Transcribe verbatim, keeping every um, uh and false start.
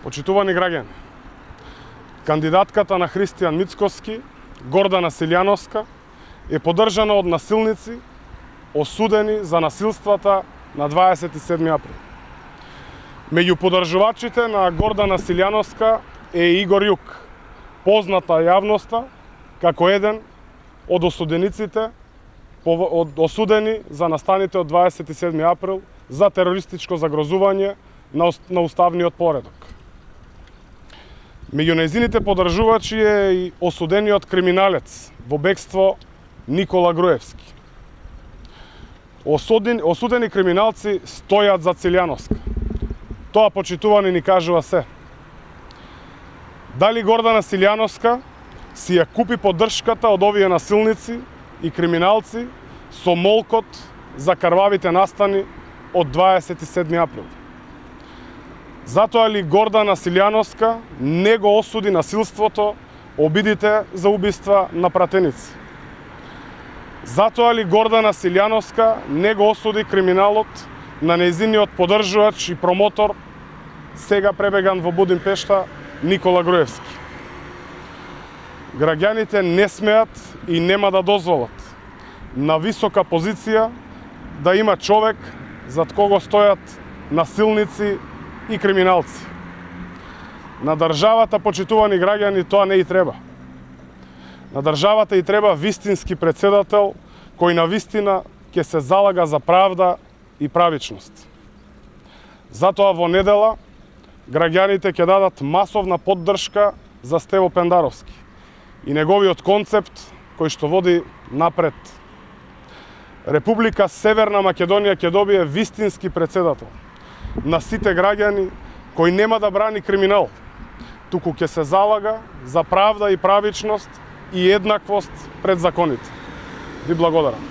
Почитувани граѓани, кандидатката на Христијан Мицкоски, Гордана Силјановска, е поддржана од насилници осудени за насилствата на дваесет и седми април. Меѓу поддржувачите на Гордана Силјановска е Игор Јук, позната јавноста како еден од осудениците од осудени за настаните од дваесет и седми април за терористичко загрозување на уставниот поредок. Меѓу нејзините поддржувачи е и осудениот криминалец во бегство Никола Груевски. Осудени, осудени криминалци стојат за Силјановска. Тоа, почитувани, ни кажува се. Дали Гордана Силјановска си ја купи поддршката од овие насилници и криминалци со молкот за крвавите настани од дваесет и седми април? Затоа ли Гордана Силјановска не го осуди насилството, обидите за убиства на пратеници? Затоа ли Гордана Силјановска не го осуди криминалот на нејзиниот поддржувач и промотор, сега пребеган во Будимпешта, Никола Груевски? Граѓаните не смеат и нема да дозволат на висока позиција да има човек зад кого стојат насилници и криминалци. На државата, почитувани граѓани, тоа не и треба. На државата и треба вистински председател кој на вистина ќе се залага за правда и правичност. Затоа во недела граѓаните ќе дадат масовна поддршка за Стево Пендаровски и неговиот концепт кој што води напред. Република Северна Македонија ќе добие вистински председател на сите граѓани кој нема да брани криминал, туку ќе се залага за правда и правичност и еднаквост пред законите. Ви благодарам.